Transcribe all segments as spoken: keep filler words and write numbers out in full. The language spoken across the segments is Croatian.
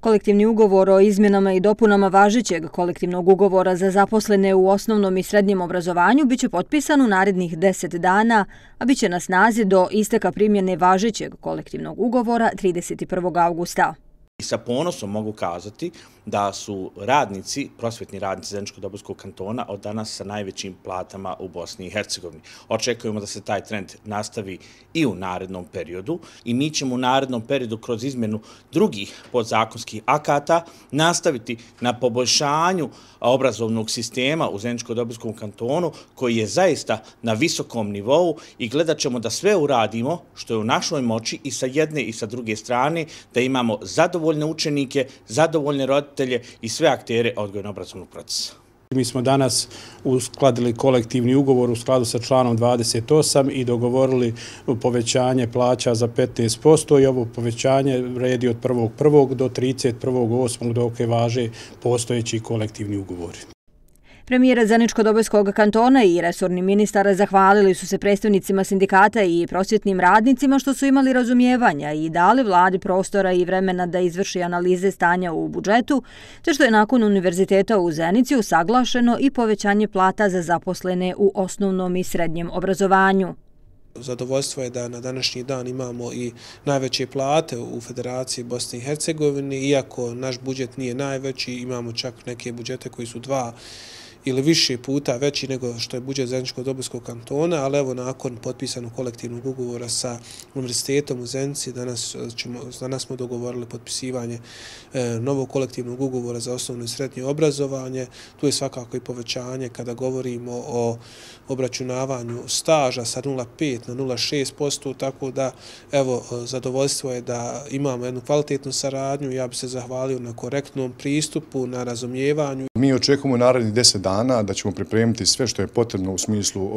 Kolektivni ugovor o izmjenama i dopunama važećeg kolektivnog ugovora za zaposlene u osnovnom i srednjem obrazovanju biće potpisan u narednih deset dana, a biće na snazi do isteka primjene važećeg kolektivnog ugovora trideset prvog avgusta. I sa ponosom mogu kazati da su radnici, prosvetni radnici Zeničko-Dobojskog kantona od danas sa najvećim platama u Bosni i Hercegovini. Očekujemo da se taj trend nastavi i u narednom periodu i mi ćemo u narednom periodu kroz izmjenu drugih podzakonskih akata nastaviti na poboljšanju obrazovnog sistema u Zeničko-Dobojskom kantonu koji je zaista na visokom nivou i gledat ćemo da sve uradimo što je u našoj moći i sa jedne i sa druge strane, da imamo zadovoljne učenike, zadovoljne roditelje i sve aktere odgojno-obrazovnog procesa. Mi smo danas uskladili kolektivni ugovor u skladu sa članom dvadeset osam i dogovorili povećanje plaća za petnaest posto i ovo povećanje vredi od prvog prvog do trideset prvog osmog dok je važe postojeći kolektivni ugovori. Premijer Zeničko-Dobojskog kantona i resorni ministar zahvalili su se predstavnicima sindikata i prosvjetnim radnicima što su imali razumijevanja i dali vladi prostora i vremena da izvrši analize stanja u budžetu, te što je nakon Univerziteta u Zenici usaglašeno i povećanje plata za zaposlene u osnovnom i srednjem obrazovanju. Zadovoljstvo je da na današnji dan imamo i najveće plate u Federaciji Bosne i Hercegovine, iako naš budžet nije najveći, imamo čak neke budžete koji su dva ili više puta veći nego što je budžet Zeničko-Dobojskog kantona, ali evo nakon potpisanog kolektivnog ugovora sa Univerzitetom u Zenici, danas, ćemo, danas smo dogovorili potpisivanje e, novog kolektivnog ugovora za osnovno i srednje obrazovanje. Tu je svakako i povećanje kada govorimo o obračunavanju staža sa nula zarez pet na nula zarez šest posto, tako da evo zadovoljstvo je da imamo jednu kvalitetnu saradnju. Ja bih se zahvalio na korektnom pristupu, na razumijevanju. Mi očekujemo narednih deset dana da ćemo pripremiti sve što je potrebno u smislu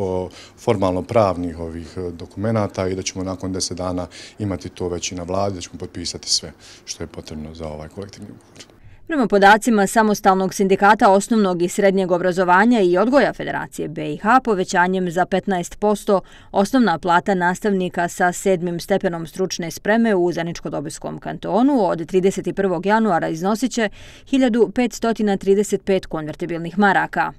formalno-pravnih ovih dokumenata i da ćemo nakon deset dana imati to već i na vladi, da ćemo potpisati sve što je potrebno za ovaj kolektivni ugovor. Prema podacima Samostalnog sindikata osnovnog i srednjeg obrazovanja i odgoja Federacije B i H, povećanjem za petnaest posto osnovna plata nastavnika sa sedmim stepenom stručne spreme u Zeničko-Dobojskom kantonu od trideset prvog januara iznosiće hiljadu petsto trideset pet konvertibilnih maraka.